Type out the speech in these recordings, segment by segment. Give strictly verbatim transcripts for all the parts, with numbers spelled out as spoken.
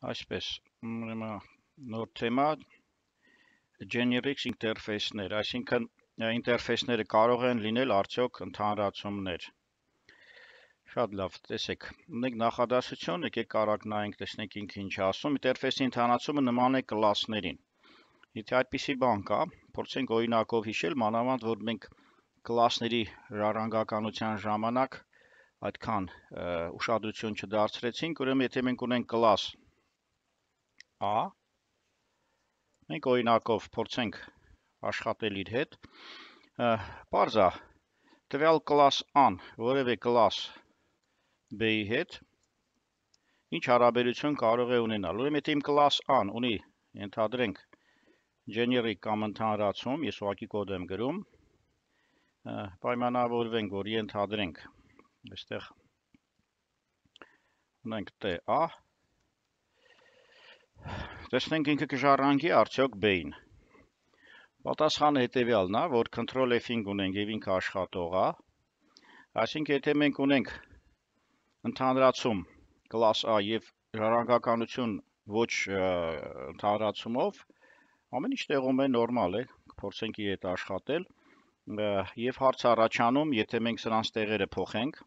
Այսպես, ուրեմն նոր թեմա generics ինտերֆեյսներ, այսինքն ինտերֆեյսները կարող են լինել արդյոք ընդհանրացումներ։ Շատ լավ, տեսեք, ունենք նախադասություն, եկեք կարակ նայենք, տեսնենք ինքը ինչ է ասում, ինտերֆեյսի ընդհանրացումը նման է կլասներին։ Եթե այդպիսի բան կա, փորձենք օրինակով հիշել, մանավանդ որ մենք կլասների ժառանգականության ժամանակ այդքան ուշադրություն չդարձրեցինք, ուրեմն եթե մենք ունենք կլաս A, մենք օրինակով փորձենք աշխատել իր հետ, պարզ է, տվյալ կլաս A-ն որևէ կլաս B-ի հետ ինչ հարաբերություն կարող է ունենալ։ Ուրեմն եթե իմ կլաս A-ն ունի, ենթադրենք, generic կամ ընդհանրացում, ես ուղղակի կոդ եմ գրում, պայմանավորվենք, որ ենթադրենք, այստեղ ունենք TA, տեսնենք ինքը կժառանգի արդյոք B-ին։ Պատասխանը հետևյալն է, որ control F-ին ունենք եւ ինքը աշխատող է, այսինքն եթե մենք ունենք ընդհանրացում կլաս A եւ ժառանգականություն ոչ ընդհանրացումով, ամեն ինչ տեղում է նորմալ է, կփորձենք իր հետ աշխատել եւ հարց առաջանում, եթե մենք սրանց տեղերը փոխենք,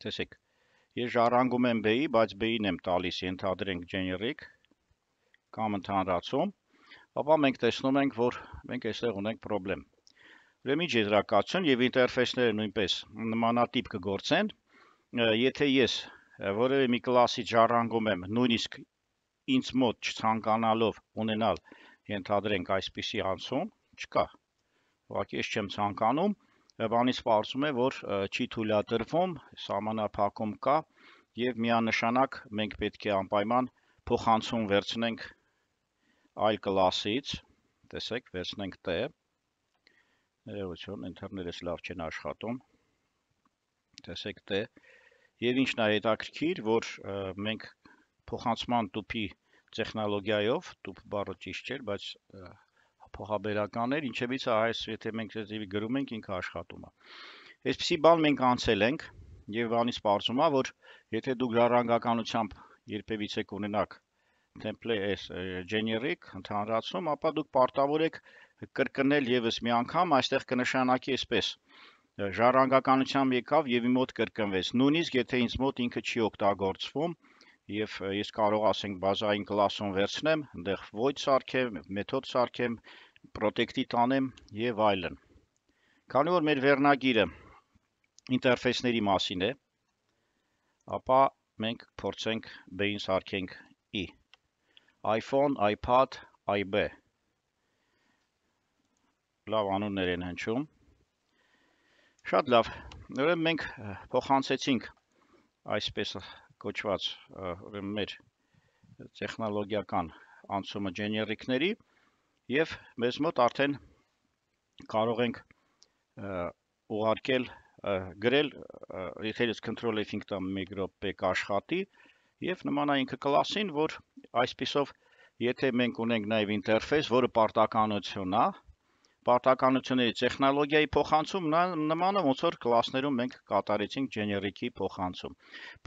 տեսեք, ես ժառանգում եմ B-ի, բայց B-ին եմ տալիս, ենթադրենք generic կամ ընդհանրացում, ապա մենք տեսնում ենք, որ մենք այստեղ ունենք պրոբլեմ։ Ուրեմն ինչ եզրակացություն եւ ինտերֆեյսները նույնպես նմանատիպ կգործեն, եթե ես որևէ մի կլասից ժառանգում եմ, նույնիսկ ինձ մոտ չցանկանալով ունենալ, ենթադրենք այսպիսի անցում, չկա։ Ուղղակի ես չեմ ցանկանում, բանից պարզում է, որ չի թույլատրվում, սահմանափակում կա եւ միանշանակ մենք պետք է անպայման փոխանցում վերցնենք այլ կլասից, տեսեք, վերցնենք T, ներողություն, ինտերներս լավ չեն աշխատում, տեսեք T, եւ ինչն է հետաքրքիր, որ մենք փոխանցման տուփի տեխնոլոգիայով, տուփ բառը ճիշտ չէր, բայց փոխաբերական էր, ինչևից է այս, եթե մենք գրում ենք, ինքը աշխատում է։ Այսպիսի բան մենք անցել ենք եւ բանից պարզում է, որ եթե դուք ժառանգականությամբ երբևիցե կունենաք template generic ընդհանրացում, ապա դուք պարտավոր եք կրկնել եւս մի անգամ, այստեղ կնշանակի այսպես. ժառանգականությամբ եկավ եւ իմ մոտ կրկնվեց։ Նույնիսկ եթե ինձ մոտ ինքը չի օգտագործվում եւ ես կարող ասենք բազային կլասում վերցնեմ, այնտեղ void սարքեմ, մեթոդ սարքեմ, protect-ի տանեմ եւ այլն։ Քանի որ մեր վերնագիրը ինտերֆեյսների մասին է, ապա մենք փորձենք B-ին սարքենք I. iPhone, iPad, iB։ Լավ անուններ են հնչում։ Շատ լավ։ Ուրեմն մենք փոխանցեցինք այսպես կոչված, ուրեմն մեր տեխնոլոգիական անցումը generic-ների եւ մեզ մոտ արդեն կարող ենք ուղարկել, գրել, եթե ես control F-ին տամ մեկ րոպե կաշխատի եւ նման է ինքը կլասին, որ այսպիսով եթե մենք ունենք նաեւ ինտերֆեյս, որը պարտականություն է, պարտականությունների տեխնոլոգիայի փոխանցում նման է ոնց որ կլասներում մենք կատարեցինք generic-ի փոխանցում։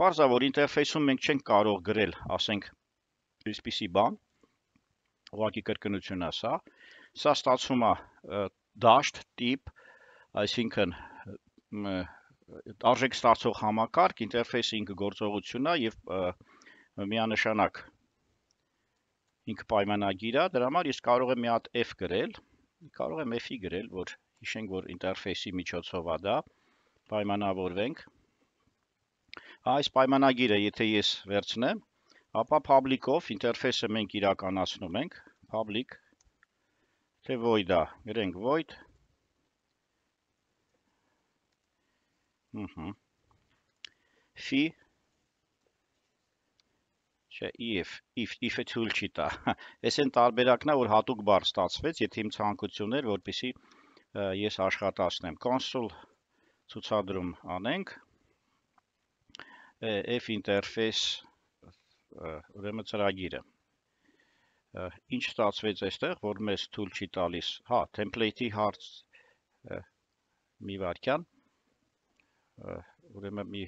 Պարզ է, որ ինտերֆեյսում մենք չենք կարող գրել, ասենք, այսպիսի բան, ուղղակի կրկնություն է սա, սա ստացվում է dashed tip, այսինքն արժեք ստացող համակարգ, ինտերֆեյսը ինքը գործողություն է եւ միանշանակ ինքը պայմանագիր է, դրա համար ես կարող եմ մի հատ F գրել, կարող եմ F-ի գրել, որ հիշենք, որ ինտերֆեյսի միջոցով է դա, պայմանավորվենք։ Այս պայմանագիրը, եթե ես վերցնեմ, ապա public-ով ինտերֆեյսը մենք իրականացնում ենք, public, թե void է, գրենք void, Phi, չէ, if, if, if-ը թույլ չի տա, ես են տարբերակն է, որ հատուկ բառ ստացվեց, եթե իմ ցանկությունն էր, որպեսզի ես աշխատացնեմ, console ցուցադրում անենք, F interface, ուրեմն ծրագիրը, ինչ ստացվեց այստեղ, որ մեզ թույլ չի տալիս, հա, template-ի հարց, մի վարքյան, ուրեմն մի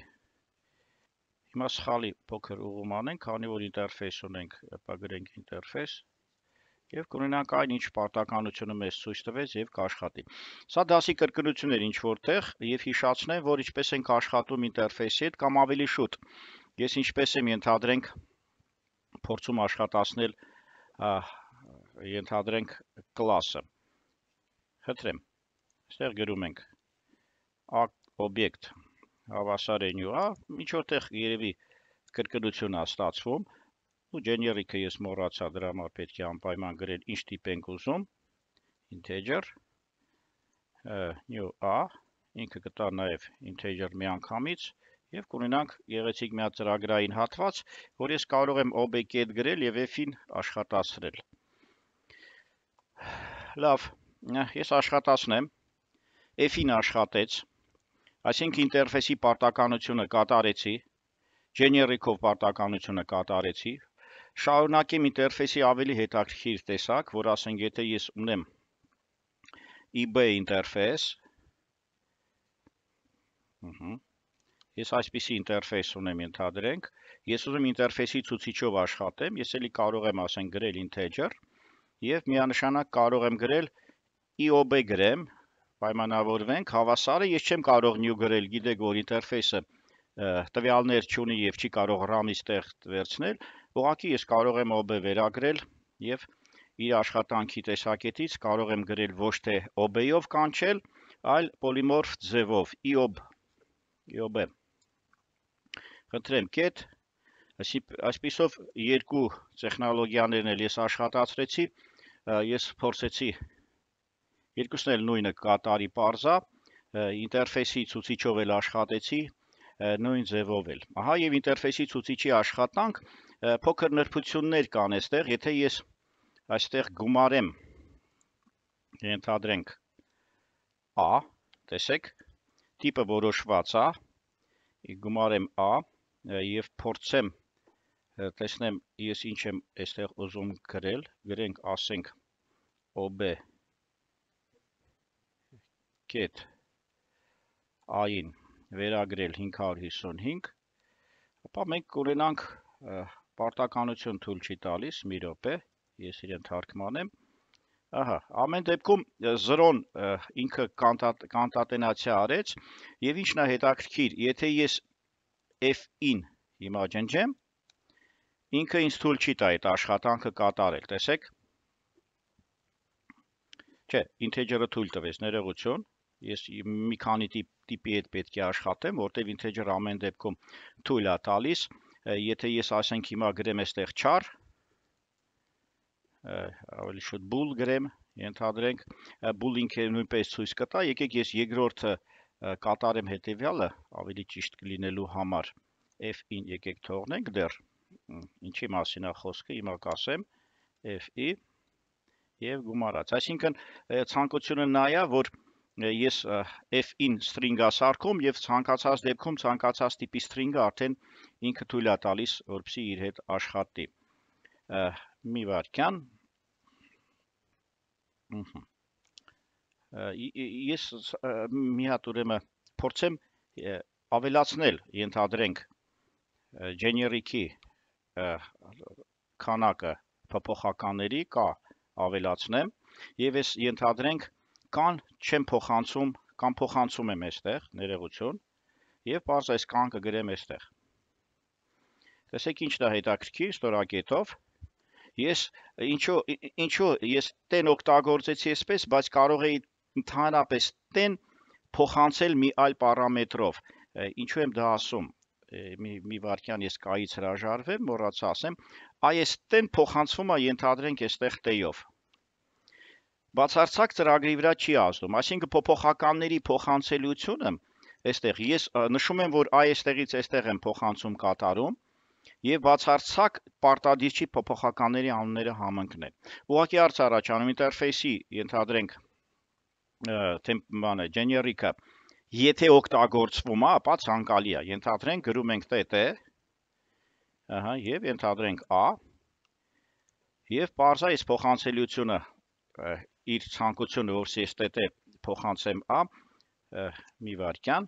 Հիմա սխալի փոքր ուղում անենք, քանի որ ինտերֆեյս ունենք, ապա գրենք ինտերֆեյս եւ կունենանք այն ինչ պարտականությունը մեզ ցույց տվեց եւ կաշխատի։ Սա դասի կրկնություն էր ինչ որտեղ եւ հիշացնեմ, որ ինչպես ենք աշխատում ինտերֆեյսի հետ կամ ավելի շուտ։ Ես ինչպես եմ ենթադրենք փորձում աշխատացնել ենթադրենք կլասը։ Խնդրեմ, այստեղ գրում ենք օբյեկտ հավասար է նյու, ինչ որտեղ երևի կրկնություն է ստացվում, ու generic-ը ես մոռացա, դրա համար պետք է անպայման գրել ինչ տիպ ենք ուզում, integer, new a, ինքը կտա նաև integer միանգամից, եւ կունենանք գեղեցիկ մի հատ ծրագրային հատված, որ ես կարող եմ ob-get գրել եւ f-ին աշխատացրել։ Լավ, ես աշխատացնեմ, f-ին աշխատեց, այսինքն ինտերֆեյսի պարտականությունը կատարեցի, generic-ով պարտականությունը կատարեցի, շարունակեմ ինտերֆեյսի ավելի հետաքրքիր տեսակ, որ ասենք եթե ես ունեմ ib ինտերֆեյս, ես այսպիսի ինտերֆեյս ունեմ ենթադրենք, ես ուզում ինտերֆեյսի ցուցիչով աշխատեմ, ես էլի կարող եմ ասենք գրել integer եւ միանշանակ կարող եմ գրել iob գրեմ, պայմանավորվենք, հավասարը ես չեմ կարող new գրել, գիտեք որ ինտերֆեյսը տվյալներ չունի եւ չի կարող RAM-ից տեղ վերցնել, ուղղակի ես կարող եմ ob վերագրել եւ իր աշխատանքի տեսակետից կարող եմ գրել ոչ թե ob-ով կանչել, այլ polymorph ձևով iob iob Խնդրեմ get այսպիսով երկու տեխնոլոգիաներն էլ ես աշխատացրեցի, ես փորձեցի երկուսն էլ նույնը կատարի parza, ինտերֆեյսի ցուցիչով էլ աշխատեցի նույն ձևով էլ։ Ահա եւ ինտերֆեյսի ցուցիչի աշխատանք փոքր նրբություններ կան այստեղ, եթե ես այստեղ գումարեմ ենթադրենք a, տեսեք, տիպը որոշված է, գումարեմ a եւ փորձեմ տեսնեմ ես ինչ եմ այստեղ ուզում գրել, գրենք ասենք ob get a-ին վերագրել հինգ հարյուր հիսունհինգ, ապա մենք կունենանք պարտականություն թույլ չի տալիս, մի րոպե, ես իրեն թարգմանեմ, ահա, ամեն դեպքում զրոն ինքը կանտատենացիա արեց, եւ ինչն է հետաքրքիր, եթե ես f-ին հիմա ջնջեմ, ինքը ինձ թույլ չի տա այդ աշխատանքը կատարել, տեսեք, չէ, integer-ը թույլ տվեց, ներողություն, ես մի քանի տիպի հետ պետք է աշխատեմ, որտեվ integer ամեն դեպքում թույլ է տալիս, եթե ես ասենք հիմա գրեմ այստեղ char, ավելի շուտ bool գրեմ, ենթադրենք, bool ինքը նույնպես ցույց կտա, եկեք ես երկրորդը կատարեմ հետևյալը, ավելի ճիշտ կլինելու համար, f-ին եկեք թողնենք դեռ, ինչի մասին է խոսքը, հիմա կասեմ, f-ի եւ գումարած, այսինքն ցանկությունը նա է, որ ես f-ին string-ա սարքում եւ ցանկացած դեպքում ցանկացած տիպի string-ը արդեն ինքը թույլ է տալիս, որպեսզի իր հետ աշխատի։ Մի վարքյան։ Ես մի հատ ուրեմն փորձեմ ավելացնել, ենթադրենք generic-ի քանակը փոփոխականների կա ավելացնեմ եւ ես ենթադրենք կան չեմ փոխանցում, կամ փոխանցում եմ այստեղ, ներողություն, եւ բարձ այս կան կգրեմ այստեղ։ Տեսեք ինչն է հետաքրքիր, ստորակետով, ես ինչու ինչու ես տեն օգտագործեցի այսպես, բայց կարող էի ընդհանրապես տեն փոխանցել մի այլ պարամետրով։ Ինչու եմ դա ասում։ Մի մի վարքյան ես կայից հրաժարվեմ, մոռացա ասեմ, այս տեն փոխանցվում է ենթադրենք այստեղ t-ով։ Բացարձակ ծրագրի վրա չի ազդում, այսինքն փոփոխականների փոխանցելիությունը, այստեղ ես նշում եմ, որ այստեղից այստեղ եմ փոխանցում կատարում, եւ բացարձակ պարտադիր չի փոփոխականների անունները համընկնել։ Ուղղակի հարց առաջանում ինտերֆեյսի ենթադրենք բանը generic-ը, եթե օգտագործվում է, ապա ցանկալի է։ Ենթադրենք գրում ենք tt, ահա, եւ ենթադրենք a, եւ parza այս փոխանցելիությունը իր ցանկությունը, որ ես tt փոխանցեմ a, մի վարքյան,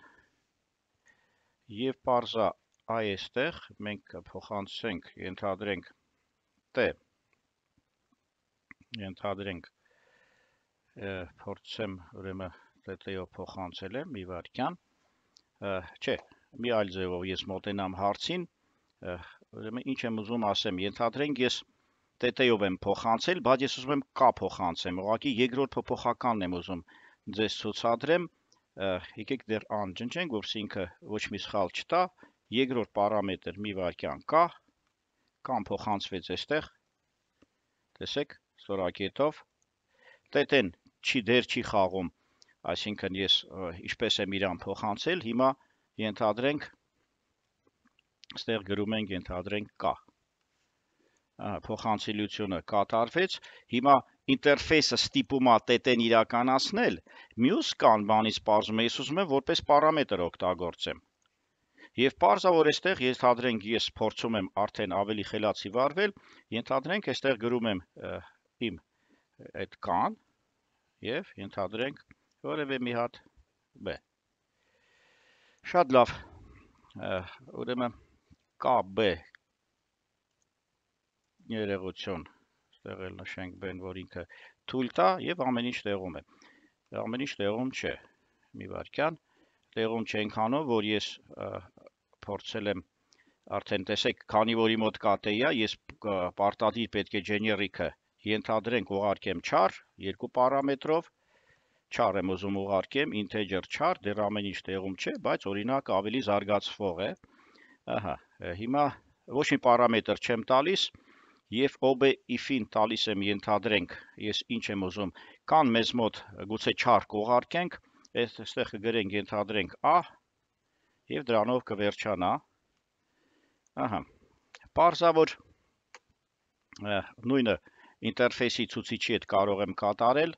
եւ parza այստեղ մենք փոխանցենք, ենթադրենք T, ենթադրենք փորձեմ ուրեմն T-ով փոխանցել եմ մի վայրկյան, չէ, մի այլ ձևով ես մոտենամ հարցին, ուրեմն ինչ եմ ուզում ասեմ, ենթադրենք ես T-ով եմ փոխանցել, բայց ես ուզում եմ K փոխանցեմ, ուղղակի երկրորդ փոփոխականն եմ ուզում ձեզ ցուցադրեմ, եկեք դեռ անջնջենք, որպեսզի ինքը ոչ մի սխալ չտա, երկրորդ պարամետր մի վայրկյան կա, կամ փոխանցվեց այստեղ, տեսեք, ստորակետով, T-ն չի դեր չի խաղում, այսինքն ես ինչպես եմ իրան փոխանցել, հիմա ենթադրենք, այստեղ գրում ենք ենթադրենք K, փոխանցելիությունը կատարվեց, հիմա ինտերֆեյսը ստիպում է T-ն իրականացնել, մյուս կան բանից պարզում է, ես ուզում եմ որպես պարամետր օգտագործեմ։ Եվ պարզա որ այստեղ ենթադրենք ես փորձում եմ արդեն ավելի խելացի վարվել, ենթադրենք այստեղ գրում եմ իմ այդ կան եւ ենթադրենք որևէ մի հատ B։ Շատ լավ։ Ուրեմն K B երեղություն, այստեղ էլ նշենք B-ն, որ ինքը թույլ տա եւ ամեն ինչ տեղում է։ Ամեն ինչ տեղում չէ։ Մի վայրկյան, տեղում չենք անով, որ ես փորձել եմ արդեն տեսեք, քանի որ իմ մոտ K T-ա, ես պարտադիր պետք է generic-ը ենթադրենք ուղարկեմ char, երկու պարամետրով, char եմ ուզում ուղարկեմ, integer char, դեռ ամեն ինչ տեղում չէ, բայց օրինակ ավելի զարգացվող է։ Ահա, հիմա ոչ մի պարամետր չեմ տալիս, եւ O B if-ին տալիս եմ ենթադրենք, ես ինչ եմ ուզում, կան մեզ մոտ գուցե char կուղարկենք, այստեղ կգրենք ենթադրենք A, եւ դրանով կվերջանա։ Ահա, պարզա որ նույնը ինտերֆեյսի ցուցիչի հետ կարող եմ կատարել,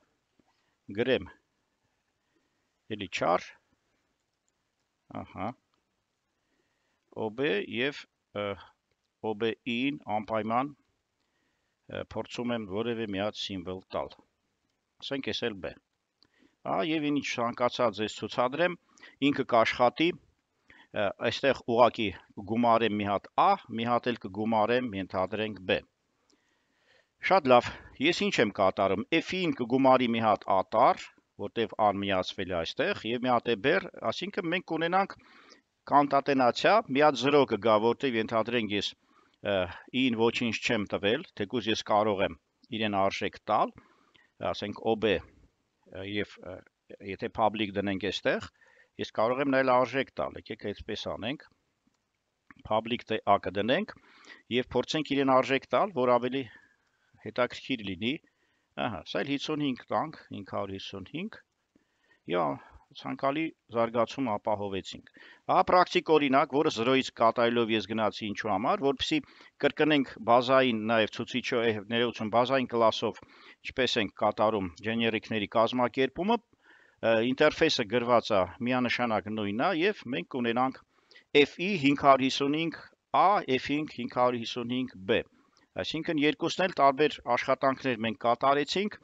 գրեմ էլի char, ահա, O B եւ O B-ին անպայման փորձում եմ որևէ մի հատ սիմվոլ տալ։ Ասենք էս էլ B։ Ահա եւ ինչ ցանկացած ես ցուցադրեմ, ինքը կաշխատի, այստեղ ուղակի գումարեմ մի հատ A, մի հատ էլ կգումարեմ, ենթադրենք B։ Շատ լավ, ես ինչ եմ կատարում, F-ին կգումարի մի հատ ատար, որտեվ A-ն միացվել է այստեղ, եւ մի հատ է բեր, այսինքն մենք կունենանք կոնկատենացիա, մի հատ զրո կգա, որտեվ ենթադրենք ես I-ին ոչինչ չեմ տվել, թեկուզ ես կարող եմ իրեն արժեք տալ, ասենք O B եւ եթե public դնենք այստեղ, ես կարող եմ նայել արժեք տալ, եկեք այդպես անենք, public A կդնենք եւ փորձենք իրեն արժեք տալ, որ ավելի հետաքրքիր լինի, ահա, սա էլ հիսունհինգ տանք, հինգ հարյուր հիսունհինգ, եւ ցանկալի զարգացում ապահովեցինք։ Ահա պրակտիկ օրինակ, որը զրոյից կատարելով ես գնացի ինչու համար, որպեսզի կրկնենք բազային նաեւ ցուցիչը ներողություն բազային կլասով, ինչպես ենք կատարում generic-ների կազմակերպումը, ինտերֆեյսը գրված է միանշանակ նույնն է եւ մենք կունենանք F-ի հինգ հարյուր հիսունհինգ A, F-ին հինգ հարյուր հիսունհինգ B։ Այսինքն երկուսն էլ տարբեր աշխատանքներ մենք կատարեցինք,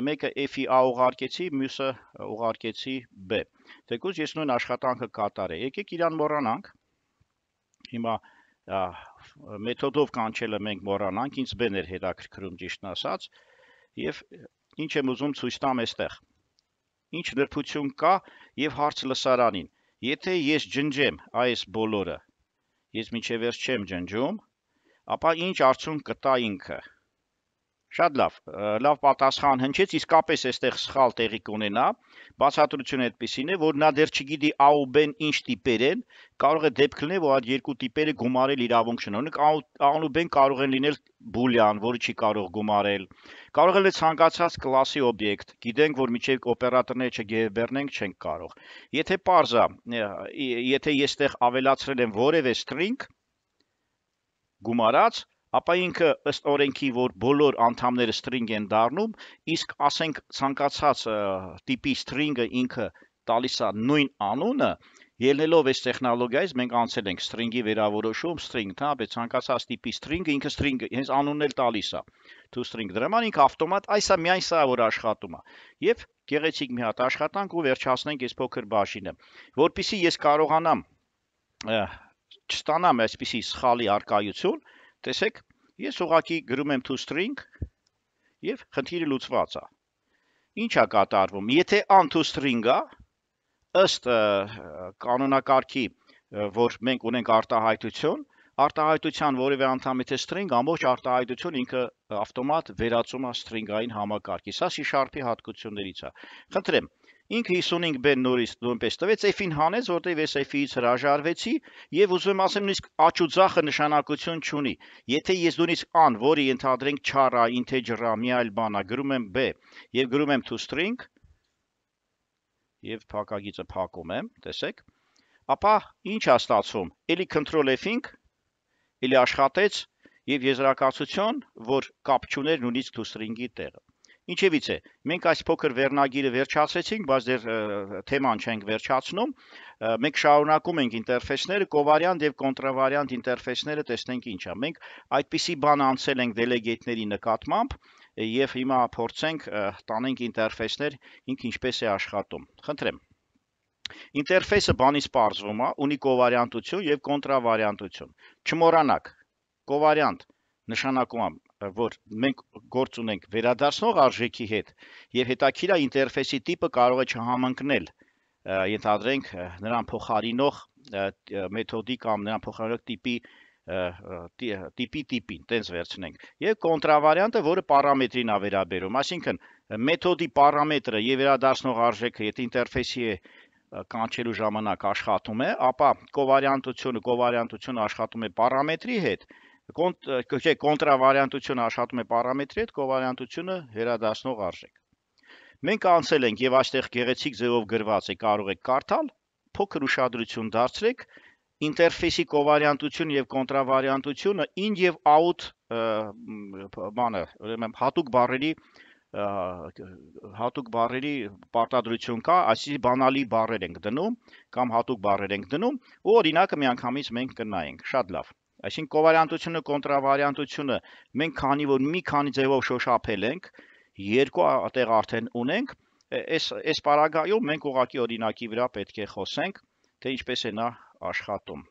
մեկը F-ի A ուղարկեցի, մյուսը ուղարկեցի B։ Թեկուզ ես նույն աշխատանքը կատարեի։ Եկեք իրան մոռանանք։ Հիմա մեթոդով կանչելը մենք մոռանանք, ինձ B-ն էր հետաքրքրում ճիշտն ասած, եւ ինչ եմ ուզում ցույց տամ այստեղ։ Ինչ նրբություն կա եւ հարց լսարանին։ Եթե ես ջնջեմ այս բոլորը, ես միջև վերջ չեմ ջնջում, ապա ինչ արդյունք կտա ինքը։ Շատ լավ, լավ պատասխան հնչեց, իսկապես այստեղ սխալ տեղի կունենա, բացատրությունը այդպեսին է, որ նա դեռ չգիտի A ու B-ն ինչ տիպեր են, կարող է դեպք լինել, որ այդ երկու տիպերը գումարել իրավունք չունեն, A-ն ու B-ն կարող են լինել բուլյան, որը չի կարող գումարել, կարող է ցանկացած կլասի օբյեկտ, գիտենք, որ միջև օպերատորները չգերբեռնենք չենք կարող։ Եթե պարզա, եթե ես այդտեղ ավելացրել եմ որևէ string գումարած, ապա ինքը ըստ օրենքի, որ բոլոր անդամները string են դառնում, իսկ ասենք ցանկացած տիպի string-ը ինքը տալիս է նույն անունը, ելնելով այս տեխնոլոգիայից մենք անցել ենք string-ի վերավորոշում, string, հա, բայց ցանկացած տիպի string-ը ինքը string-ը հենց անունն էլ տալիս է։ Tostring դրաման ինքը ավտոմատ, այսա միայն սա որ աշխատում է։ Եվ գեղեցիկ մի հատ աշխատանք ու վերջացնենք այս փոքր բաժինը։ Որպեսզի ես կարողանամ չստանամ այսպիսի սխալի արկայություն, տեսեք, ես ուղղակի գրում եմ toString եւ խնդիրը լուծված է։ Ինչ է կատարվում։ Եթե untoString-ը ըստ կանոնակարգի, որ մենք ունենք արտահայտություն, արտահայտության որևէ անդամ եթե string, ամբողջ արտահայտություն ինքը ավտոմատ վերածում է string-ային համակարգի։ Սա C# հատկություններից է։ Խնդրեմ, ինքը հիսունհինգ B նորից նույնպես տվեց, F-ին հանեց, որտեղ ես F-ից հրաժարվեցի եւ ուզում եմ ասեմ նույնիսկ աճ ու ձախը նշանակություն չունի։ Եթե ես նույնիսկ an, որը ենթադրենք char է, integer է, մի այլ բան է, գրում եմ B եւ գրում եմ toString եւ փակագիծը փակում եմ, տեսեք, ապա ինչ է ստացվում։ Էլի control F-ինք, էլի աշխատեց եւ եզրակացություն, որ կապ չուներ նույնիսկ toString-ի տեղը։ Ինչևից է, մենք այս փոքր վերնագիրը վերջացրեցինք, բայց դեռ թեման չենք վերջացնում, մենք շարունակում ենք ինտերֆեյսները, կովարիանտ եւ կոնտրավարիանտ ինտերֆեյսները տեսնենք ինչ է։ Մենք այդպիսի բան անցել ենք դելեգեյթների նկատմամբ եւ հիմա փորձենք տանենք ինտերֆեյսներ, ինքը ինչպես է աշխատում։ Խնդրեմ։ Ինտերֆեյսը բանից պարզվում է, ունի կովարիանտություն եւ կոնտրավարիանտություն։ Չմոռանաք, կովարիանտ նշանակում է, որ մենք գործ ունենք վերադարձնող արժեքի հետ եւ հետաքրքիր է ինտերֆեյսի տիպը կարող է չհամընկնել, ենթադրենք նրան փոխարինող մեթոդի կամ նրան փոխարինող տիպի տիպի տիպին, տենց վերցնենք։ Եվ կոնտրավարիանտը, որը պարամետրին է վերաբերում, այսինքն մեթոդի պարամետրը եւ վերադարձնող արժեքը, եթե ինտերֆեյսի է կանչելու ժամանակ աշխատում է, ապա կովարիանտությունը, կովարիանտությունը աշխատում է պարամետրի հետ, կոնտրավարիանտությունը աշխատում է պարամետրի հետ, կովարիանտությունը վերադարձնող արժեք։ Մենք անցել ենք եւ այստեղ գեղեցիկ ձևով գրված է, կարող եք կարդալ, փոքր ուշադրություն դարձրեք, ինտերֆեյսի կովարիանտությունը եւ կոնտրավարիանտությունը in եւ out բանը, ուրեմն հատուկ բառերի հատուկ բառերի պարտադրություն կա, այսինքն բանալի բառեր ենք դնում կամ հատուկ բառեր ենք դնում, ու օրինակը միանգամից մենք կնայենք, շատ լավ։ Այսինքն կովարիանտությունը, կոնտրավարիանտությունը մենք քանի որ մի քանի ձևով շոշափել ենք, երկու տեղ արդեն ունենք, այս այս պարագայում մենք ուղղակի օրինակի վրա պետք է խոսենք, թե ինչպես է նա աշխատում։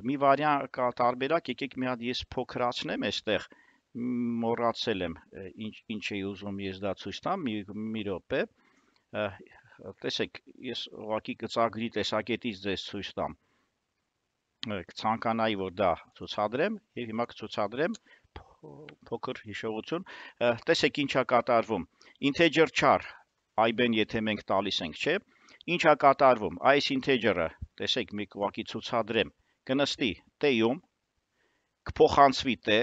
Մի վարիանտ կա տարբերակ, եկեք մի հատ ես փոքրացնեմ այստեղ, մոռացել եմ, ինչ ինչ էի ուզում ես դա ցույց տամ, մի մի րոպե։ Տեսեք, ես ուղղակի գծագրի տեսակետից ձեզ ցույց տամ։ Ցանկանայի, որ դա ցուցադրեմ եւ հիմա կցուցադրեմ փոքր հիշողություն։ Տեսեք ինչա կատարվում։ Integer char I-ben եթե մենք տալիս ենք, չէ՞։ Ինչա կատարվում։ Այս integer-ը, տեսեք, մի ուղղակի ցուցադրեմ, կնստի t-ում, կփոխանցվի t,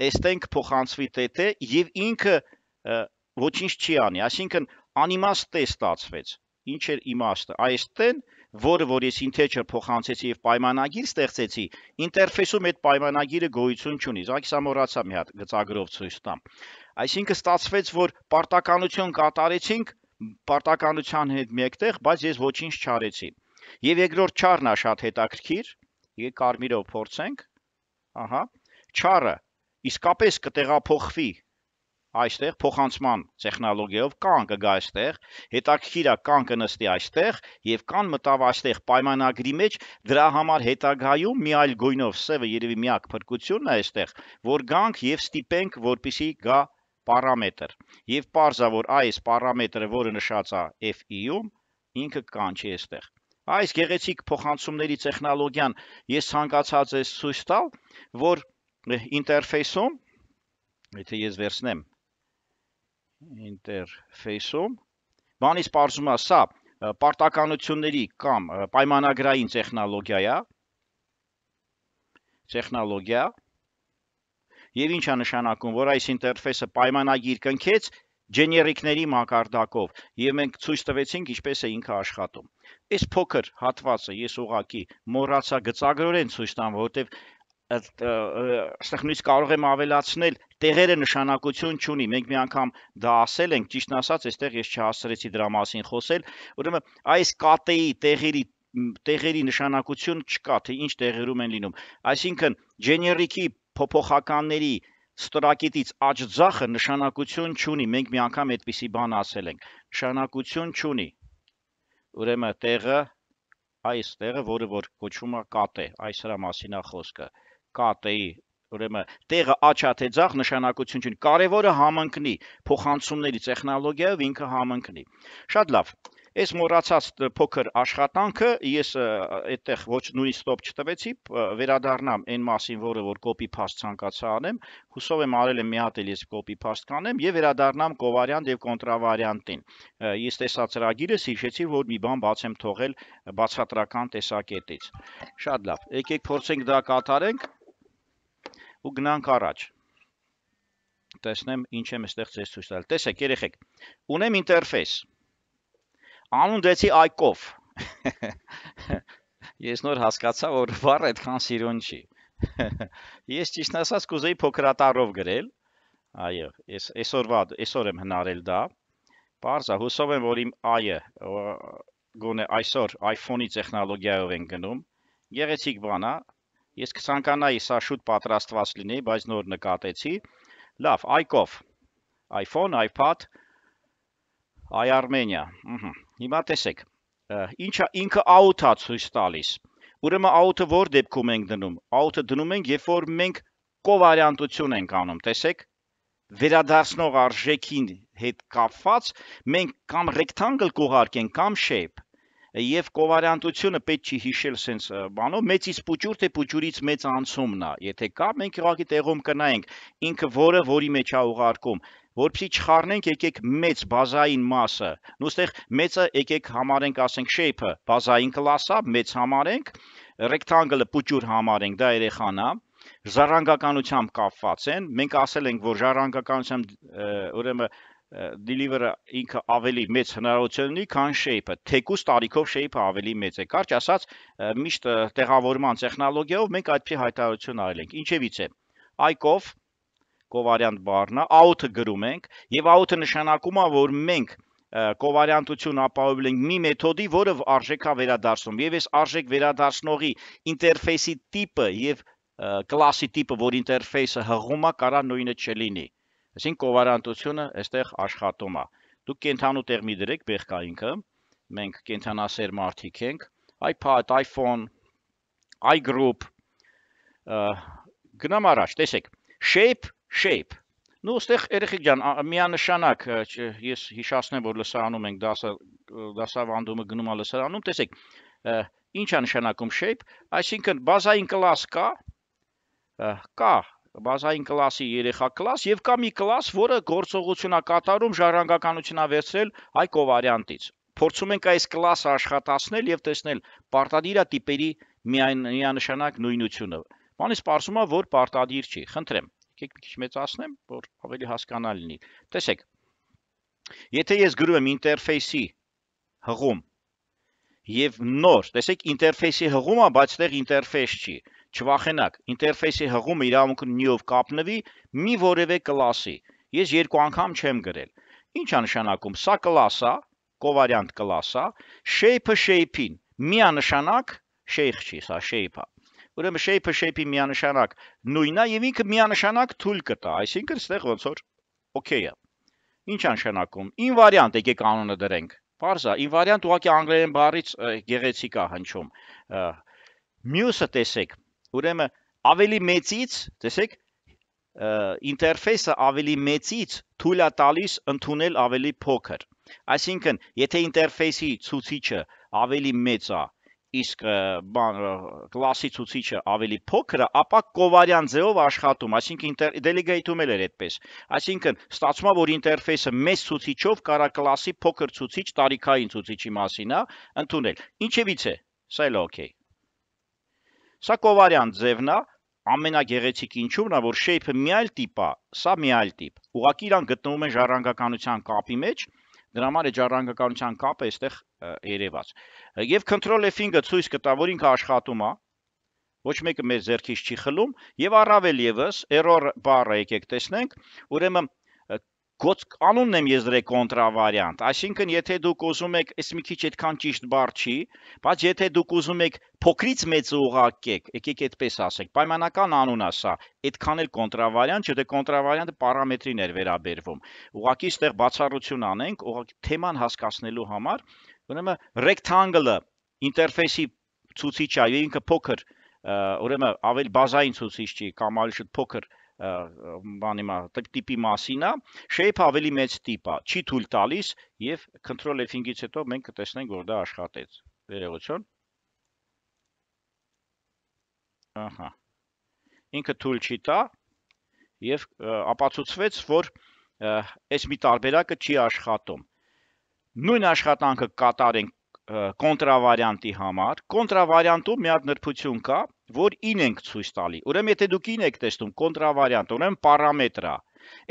այստեղ կփոխանցվի t-ը եւ ինքը ոչինչ չի անի, այսինքն անիմաստ t ստացվեց։ Ինչ էր իմաստը։ Այստեն, որը որ ես integer փոխանցեցի եւ պայմանագիր ստեղծեցի, ինտերֆեյսում այդ պայմանագիրը գոյություն չունի։ Զանգ սա մոռացա մի հատ գծագրով ցույց տամ։ Այսինքն ստացվեց, որ պարտականություն կատարեցինք պարտականության հետ մեկտեղ, բայց ես ոչինչ չարեցի։ Եվ երկրորդ char-ն է շատ հետաքրքիր։ Եկեք կարմիրով փորձենք։ Ահա, char-ը իսկապես կտեղափոխվի այստեղ փոխանցման տեխնոլոգիայով կան կգա այստեղ, հետաքրքիր է կան կնստի այստեղ եւ կան մտավ այստեղ պայմանագրի մեջ, դրա համար հետագայում մի այլ գույնով սևը երևի միակ փրկությունն է այստեղ, որ գանք եւ ստիպենք, որպիսի գա պարամետր։ Եվ parza որ այս պարամետրը, որը նշած է F-ում, ինքը կանչի այստեղ։ Այս գեղեցիկ փոխանցումների տեխնոլոգիան ես ցանկացած եմ ցույց տալ, որ ինտերֆեյսում, եթե ես վերցնեմ ինտերֆեյսում, բանից պարզում է սա պարտականությունների կամ պայմանագրային տեխնոլոգիա է, տեխնոլոգիա, եւ ինչ է նշանակում, որ այս ինտերֆեյսը պայմանագիր կնքեց ջեներիկների մակարդակով եւ մենք ցույց տվեցինք ինչպես է ինքը աշխատում։ Այս փոքր հատվածը ես ուղղակի մոռացա գծագրորեն ցույց տամ, որովհետեւ այստեղ նույնիսկ կարող եմ ավելացնել տեղերը նշանակություն չունի, մենք մի անգամ դա ասել ենք, ճիշտն ասած, այստեղ ես չհասցրեցի դրա մասին խոսել, ուրեմն այս կատեի տեղերի տեղերի նշանակություն չկա, թե ինչ տեղերում են լինում։ Այսինքն generic-ի փոփոխականների ստորակետից աճ ձախը նշանակություն չունի, մենք մի անգամ այդպիսի բան ասել ենք, նշանակություն չունի։ Ուրեմն տեղը այս տեղը, որը որ կոչվում է կատ է, այս հրա մասին է խոսքը, կատ-ի, ուրեմն տեղը աչա թե ձախ նշանակություն չունի, կարևորը համընկնի, փոխանցումների տեխնոլոգիայով ինքը համընկնի։ Շատ լավ։ Այս մոռացած փոքր աշխատանքը ես այդտեղ ոչ նույնիսկ ստոպ չտվեցի, վերադառնամ այն մասին, որը որ copy paste ցանկացա անեմ, հուսով եմ արել եմ մի հատ էլ ես copy paste կանեմ եւ վերադառնամ կովարիանտ եւ կոնտրավարիանտին։ Ես տեսա ծրագիրը, հիշեցի, որ մի բան բաց եմ թողել բացատրական տեսակետից։ Շատ լավ։ Եկեք փորձենք դա կատարենք ու գնանք առաջ։ Տեսնեմ ինչ եմ այստեղ ձեզ ցույց տալ։ Տեսեք, երեխեք, ունեմ ինտերֆեյս։ Անուն դեցի այկով։ Ես նոր հասկացա, որ բառը այդքան սիրուն չի։ Ես ճիշտ ասած կուզեի փոքրատարով գրել։ Այո, ես այսօրվա այսօր եմ հնարել դա։ Պարզա, հուսով եմ, որ իմ այը գոնե այսօր iPhone-ի տեխնոլոգիայով են գնում։ Գեղեցիկ բան է։ Ես կցանկանայի սա շուտ պատրաստված լինի, բայց նոր նկատեցի։ Լավ, այկով։ iPhone, iPad, iArmenia։ Հիմա տեսեք, ինչա ինքը out-ա ցույց տալիս։ Ուրեմն out-ը որ դեպքում ենք դնում։ Out-ը դնում ենք, երբ որ մենք կովարիանտություն ենք անում, տեսեք, վերադարձնող արժեքին հետ կապված մենք կամ rectangle կուղարկենք կամ shape։ Եվ կովարիանտությունը պետք չի հիշել sense բանով, մեծից փուճուր թե փուճուրից մեծ անցումն է։ Եթե կա, մենք ուղղակի տեղում կնայենք ինքը որը որի մեջ է ուղարկում, որպեսզի չխառնենք, եկեք մեծ բազային մասը։ Նույնստեղ մեծը եկեք համարենք, ասենք shape-ը բազային կլաս է, մեծ համարենք, rectangle-ը փուճուր համարենք, դա երեխան է։ Ժառանգականությամբ կապված են։ Մենք ասել ենք, որ ժառանգականությամբ ուրեմն deliver-ը ինքը ավելի մեծ հնարավորություն ունի, քան shape-ը, թեկուզ տարիքով shape-ը ավելի մեծ է։ Կարճ ասած, միշտ տեղավորման տեխնոլոգիայով մենք այդպիսի հայտարարություն արել ենք։ Ինչևից է։ Այկով կովարիանտ բառն է, out-ը գրում ենք, եւ out-ը նշանակում է, որ մենք կովարիանտություն ապահովել ենք մի մեթոդի, որը արժեք է վերադարձնում։ Եվ այս արժեք վերադարձնողի ինտերֆեյսի տիպը եւ կլասի տիպը, որ ինտերֆեյսը հղում է, կարա նույնը չլինի։ Այսինքն կովարիանտությունը այստեղ աշխատում է։ Դուք կենթանու տեղ մի դրեք բեղկայինքը, մենք կենթանասեր մարդիկ ենք, iPad, iPhone, iGroup, գնամ առաջ, տեսեք, shape, shape, նու ստեղ երեխեք ջան, միանշանակ, ես հիշացնեմ, որ լսարանում ենք դասավանդումը գնում է լսարանում, տեսեք, ինչ է նշանակում shape, այսինքն բազային կլաս կա, կա, բազային կլասի երեխա կլաս եւ կա մի կլաս, որը գործողություն է կատարում ժառանգականություն է վերցրել այ կովարիանտից։ Փորձում ենք այս կլասը աշխատացնել եւ տեսնել պարտադիր է տիպերի միանշանակ նույնությունը։ Բանից պարզում է, որ պարտադիր չի։ Խնդրեմ, եկեք մի քիչ մեծացնեմ, որ ավելի հասկանալի լինի։ Տեսեք, եթե ես գրում եմ ինտերֆեյսի հղում եւ նոր, տեսեք, ինտերֆեյսի հղում է, բայց այդտեղ ինտերֆեյս չի։ Չվախենակ, ինտերֆեյսի հղումը իրավունքը նյով կապնվի մի որևէ կլասի։ Ես երկու անգամ չեմ գրել։ Ինչ է նշանակում։ Սա կլաս է, կովարիանտ կլաս է, shape-ը shape-ին միանշանակ shape չի, սա shape-ը։ Ուրեմն shape-ը shape-ի միանշանակ նույնն է եւ ինքը միանշանակ թույլ կտա, այսինքն այստեղ ոնց որ օքեյ է։ Ինչ է նշանակում։ Invariant եկեք անունը դրենք։ Պարզ է, invariant ուղղակի անգլերեն բառից գեղեցիկ է հնչում։ Մյուսը տեսեք, ուրեմն ավելի մեծից, տեսեք, ինտերֆեյսը ավելի մեծից թույլ է տալիս ընդունել ավելի փոքր։ Այսինքն, եթե ինտերֆեյսի ցուցիչը ավելի մեծ է, իսկ կլասի ցուցիչը ավելի փոքր է, ապա կովարիանտ ձևով աշխատում, այսինքն դելեգեյթում էլ էր այդպես։ Այսինքն, ստացվում է, որ ինտերֆեյսը մեծ ցուցիչով կարա կլասի փոքր ցուցիչ, տարիքային ցուցիչի մասին է ընդունել։ Ինչևից է, սա էլ օքեյ։ Սա կովարիանտ ձևն է, ամենագեղեցիկ ինչու՞մն է, որ shape-ը մի այլ տիպ է, սա մի այլ տիպ։ Ուղղակի իրան գտնվում են ժառանգականության կապի մեջ, դրա համար է ժառանգականության կապը այստեղ երևաց։ Եվ control F-ը ցույց կտա, որ ինքը աշխատում է, ոչ մեկը մեր ձեռքից չի խլում, եւ առավել եւս error բառը եկեք տեսնենք, ուրեմն անունն եմ ես դրել կոնտրավարիանտ, այսինքն եթե դուք ուզում եք, այս մի քիչ այդքան ճիշտ բառ չի, բայց եթե դուք ուզում եք փոքրից մեծը ուղարկեք, եկեք այդպես ասեք, պայմանական անուն է սա, այդքան էլ կոնտրավարիանտ, չէ՞ դե կոնտրավարիանտը պարամետրին էր վերաբերվում։ Ուղղակի այստեղ բացառություն անենք, ուղղակի թեման հասկացնելու համար, ուրեմն rectangle-ը ինտերֆեյսի ցուցիչ է, եւ ինքը փոքր, ուրեմն ավելի բազային ցուցիչ չի, կամ ավելի շուտ փոքր բանի մա տիպի մասին է, shape ավելի մեծ տիպ է, չի թույլ տալիս եւ control F-ից հետո մենք կտեսնենք, որ դա աշխատեց։ Վերողություն։ Ահա։ Ինքը թույլ չի տա եւ ապացուցվեց, որ այս մի տարբերակը չի աշխատում։ Նույն աշխատանքը կատարենք կոնտրավարիանտի համար, կոնտրավարիանտում մի հատ նրբություն կա, որ ին ենք ցույց տալի։ Ուրեմն եթե դուք ին եք տեսնում կոնտրավարիանտ, ուրեմն պարամետր է։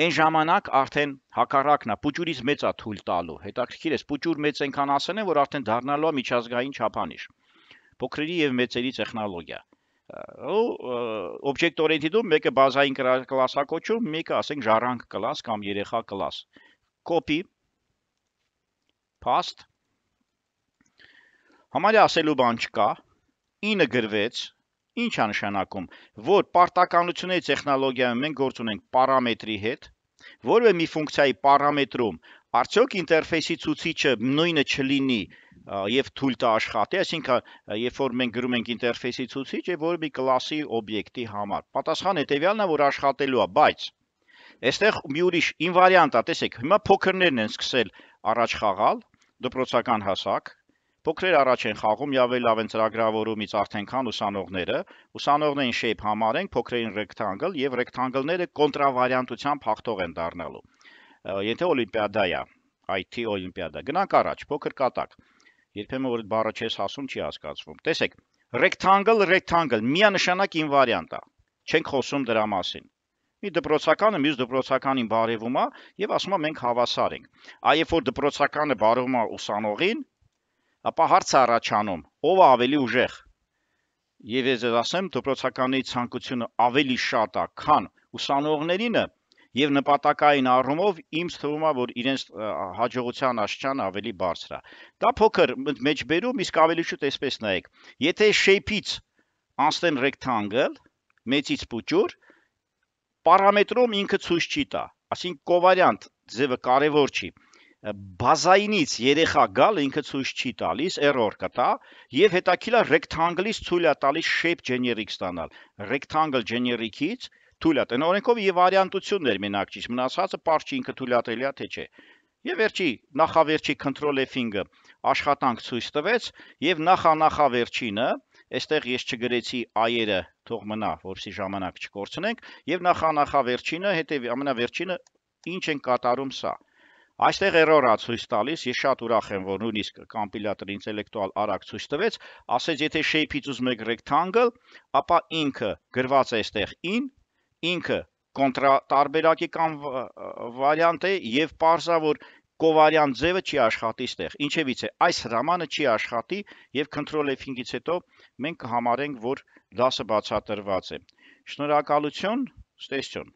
Այն ժամանակ արդեն հակառակն է, պուճուրից մեծ է թույլ տալու։ Հետաքրքիր է, պուճուր մեծ այնքան ասեն են, որ արդեն դառնալու է միջազգային չափանիշ։ Փոքրերի եւ մեծերի տեխնոլոգիա։ Ու օբյեկտ օրիենտիդում մեկը բազային կլասակոչում, մեկը ասենք ժառանգ կլաս կամ երեխա կլաս։ Copy paste Համարյա ասելու բան չկա, ինը գրվեց, ինչ է նշանակում, որ պարտականությունների տեխնոլոգիայում մենք գործ ունենք պարամետրի հետ, որը մի ֆունկցիայի պարամետրում արդյոք ինտերֆեյսի ցուցիչը նույնը չլինի եւ թույլ տա աշխատի, այսինքն երբ որ մենք գրում ենք ինտերֆեյսի ցուցիչ եւ որը մի կլասի օբյեկտի համար։ Պատասխան հետեւյալն է, որ աշխատելու է, բայց այստեղ մի ուրիշ ինվարիանտ է, տեսեք, հիմա փոքրներն են սկսել առաջ խաղալ, դպրոցական հասակ Փոքրեր առաջ են խաղում, ավելի լավ են ծրագրավորումից արդեն քան ուսանողները, ուսանողներին shape համարենք, փոքրերին rectangle եւ rectangle-ները կոնտրավարիանտությամբ հաղթող են դառնալու։ Եթե օլիմպիադա է, I T օլիմպիադա, գնանք առաջ, փոքր կատակ։ Երբեմն որ այդ բառը չես ասում, չի հասկացվում։ Տեսեք, rectangle, rectangle, միանշանակ ինվարիանտ է։ Չենք խոսում դրա մասին։ Մի դպրոցականը մյուս դպրոցականին բարևում է եւ ասում է մենք հավասար ենք։ Այ երբ որ դպրոցականը բարևում է ուսանողին, ապա հարց է առաջանում, ով է ավելի ուժեղ։ Եվ ես ասեմ, դպրոցականի ցանկությունը ավելի շատ է, քան ուսանողներինը եւ նպատակային առումով ինձ թվում է, որ իրենց հաջողության աստիճանը ավելի բարձր է։ Դա փոքր մեջբերում, իսկ ավելի շուտ այսպես նայեք։ Եթե shape-ից անցնեն rectangle, մեծից պուճուր, պարամետրում ինքը ցույց չի տա, այսինքն կովարիանտ ձևը կարևոր չի։ Բազայինից երեխա գալ ինքը ցույց չի տալիս, error կտա եւ հետաքրքիր է rectangle-ից թույլ է տալիս shape generic ստանալ։ Rectangle generic-ից թույլ է տալիս, օրենքով եւ վարիանտություններ մենակ չի, մնացածը պարզ չի ինքը թույլատրելի է թե չէ։ Եվ վերջի նախավերջի control F-ը աշխատանք ցույց տվեց եւ նախանախավերջինը, այստեղ ես չգրեցի այերը, թող մնա, որպեսզի ժամանակ չկորցնենք, եւ նախանախավերջինը, հետեւի ամենավերջինը ինչ են կատարում սա։ Այստեղ error է ցույց տալիս, ես շատ ուրախ եմ, որ նույնիսկ կոմպիլյատորը ինտելեկտուալ արագ ցույց տվեց, ասեց եթե shape-ից ուզում եք rectangle, ապա ինքը գրված է այստեղ in, ինքը կոնտրա տարբերակի կամ վարիանտ է եւ պարզա որ կովարիանտ ձևը չի աշխատի այստեղ։ Ինչևից է այս հրամանը չի աշխատի եւ control F-ից հետո մենք կհամարենք, որ դասը բացատրված է։ Շնորհակալություն, ստեսություն։